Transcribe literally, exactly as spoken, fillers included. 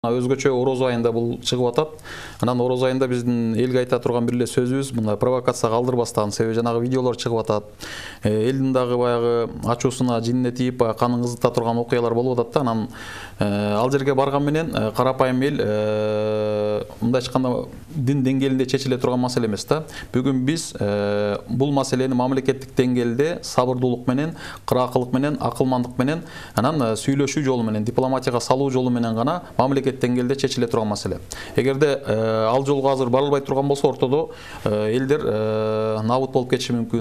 Өзгөчө ороз айында бул чыгып атат. Анан ороз айында биздин элге айта турган бир эле сөзүбүз, мындай провокация калтырбастан, себеби жанагы видеолор чыгып атат. Элдин дагы баягы ачуусуна, жинине тийип, баягы канын кызыта турган окуялар болуп атат да. Анан ал жерге барган менен карапайым эл мындай айтканда дин деңгээлинде чечиле турган маселе эмес да. Бүгүн биз бул маселени мамлекеттик деңгээлде сабырдуулук менен, кыраакылык менен, акылмандык менен, анан сүйлөшүү жолу менен, дипломатияга салуу жолу менен гана мамлекет деңгээлде чечиле турган маселе. Эгерде ал жолго азыр барылбай турган болсо, ортодо элдер набыт болуп кетиши мүмкүн.